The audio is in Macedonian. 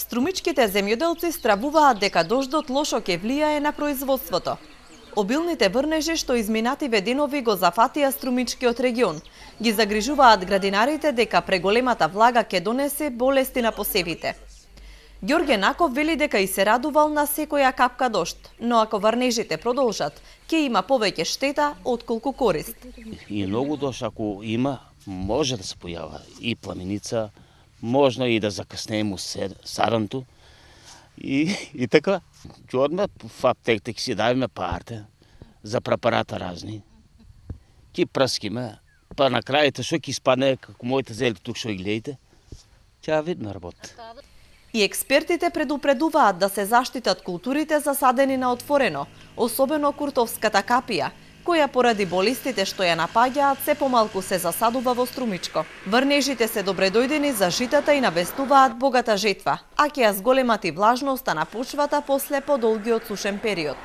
Струмичките земјоделци стравуваат дека дождот лошо ќе влијае на производството. Обилните врнежи што изминативе денови го зафатија струмичкиот регион, ги загрижуваат градинарите дека преголемата влага ќе донесе болести на посевите. Ѓорѓе Наков вели дека и се радувал на секоја капка дожд, но ако врнежите продолжат, ќе има повеќе штета отколку корист. И многу дожд ако има, може да се појава и пламеница, можно и да закъснеем саранто. И така, ќе одма в аптеката, ќе си давиме парите за препарата разни. Ќе пръскиме, па на крајите што ќе испадне, како моите зели тук што ги гледате, ќе видиме работа. И експертите предупредуваат да се заштитат културите засадени на отворено, особено куртовската капија, која поради болестите што ја напаѓаат се помалку се засадува во струмичко. Врнежите се добредојдени за житата и навестуваат богата жетва, а ќе ја зголемат и влажноста на почвата после подолгиот сушен период.